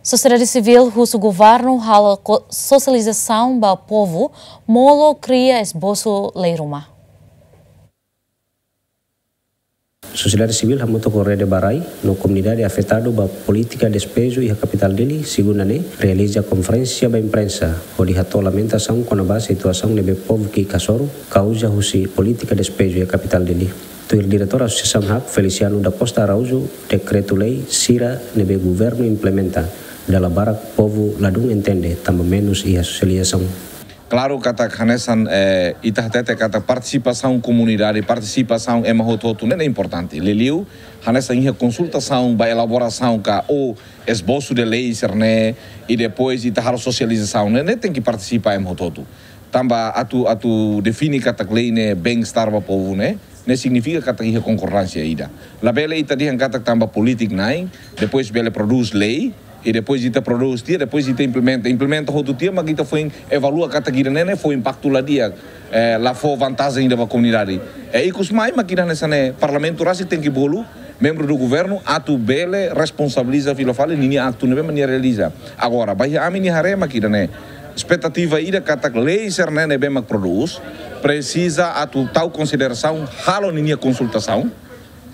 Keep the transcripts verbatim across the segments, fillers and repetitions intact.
Sosiedade sivíl husu governu halo ko-, sosializasaun ba povu, molok kria esbosu lei ruma. Sosiedade sivíl hamutuk ho rede ba rai no komunidade afetadu ba polítika despeju iha kapitál Dili, segunda ne'e, realiza konferénsia ba imprensa, hodi hato'o lamentasaun kona-ba situasaun ne'ebé povu ki'ik hasoru, kauza husi polítika despeju iha kapitál Dili. Tuir diretór Asosiasaun HAK, Feliciano da Costa Araújo, dekretu lei sira ne'ebé governu implementa, dala barak povu ladún entende, tanba menus iha sosializasaun. Klaru katak hanesan, eh, ita hatete katak partisipasaun komunidade, partisipasaun ema hotu-hotu ne'e importante. Liuliu, hanesan iha konsultasaun ba elaborasaun ka ou esbosu de lei sira-ne'e, i depois ita halo sosializasaun ne'e, ne'e tenke partisipa ema hotu-hotu. Tanba atu, atu define katak lei ne'e bem-estar ba povu ne'e, ne'e signifika katak iha konkordánsia ida. Labele ita dehan katak tanba polítika na'in, depois bele prodús lei, i depois ita prodús tiha, depois ita implementa. Implementa hotu tiha, mak ita foin evalua katak ida-ne'e ne'e fó impaktu la di'ak, eh, la fó vantajen ida ba komunidade. I ikus mai mak ida hanesan ne'e parlamentu rasik tenke bolu membru do governu atu bele responsabiliza fila fali ninia aktu ne'ebé mak nia realiza. Agora, ba iha ami-nia haree mak ida-ne'e, espetativa ida katak lei sira-ne'e ne'ebé mak prodús, presiza atu tau konsiderasaun, halo ninia konsultasaun,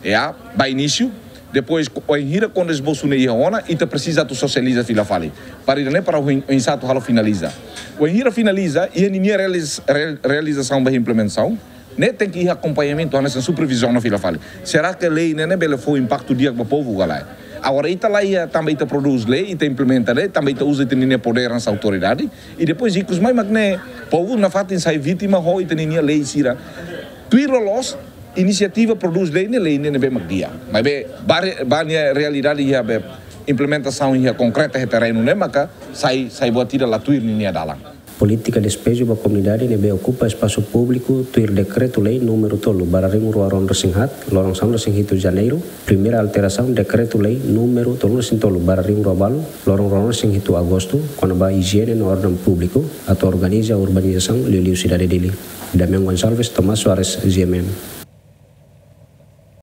ya, ba inísiu, depois, wainhira kuandu esbosu ne'e iha ona, ita presiza atu sosializa fila fali. Para ida-ne'e para oin-, oinsá atu halo finaliza. Wainhira finaliza, iha ninia realis-, real-, realizasaun ba implementasaun, ne'e tenke iha akompañamentu, hanesan supervizaun fila fali. Será que lei ne'e, ne'e bele fó impaktu di'ak ba povu ka lae? Agora, ita la iha, tanba ita prodús lei, ita implementa lei, tanba ita uza ita-nia podér hanesan autoridade, i depois ikus mai mak ne'e, povu nafatin sai vítima ho ita-nia lei sira. Tuir loloos, inisiativa prodús lei ne'e, lei ne'e ne'ebé mak di'ak. Maibé, ba re-, ba nia realidade iha be implementasaun iha konkreta iha terrenu ne'e maka sai, sai buat ida la tuir ninia dalan. Polítika despeju ba komunidade ne'ebé okupa espasu públiku tuir dekretu lei númeru tolu barra rihun rua ruanulu-resin-haat, loron sanulu-resin-hitu Janeiru, primeira alterasaun dekretu lei númeru tolunulu-resin-tolu barra rihun rua balu, loron ruanulu-resin-hitu Agostu, kona-ba ijiene no orden públiku, atu organiza urbanizasaun liuliu sidade Dili. Damian Gonçalves, Tomás Soares, G M N.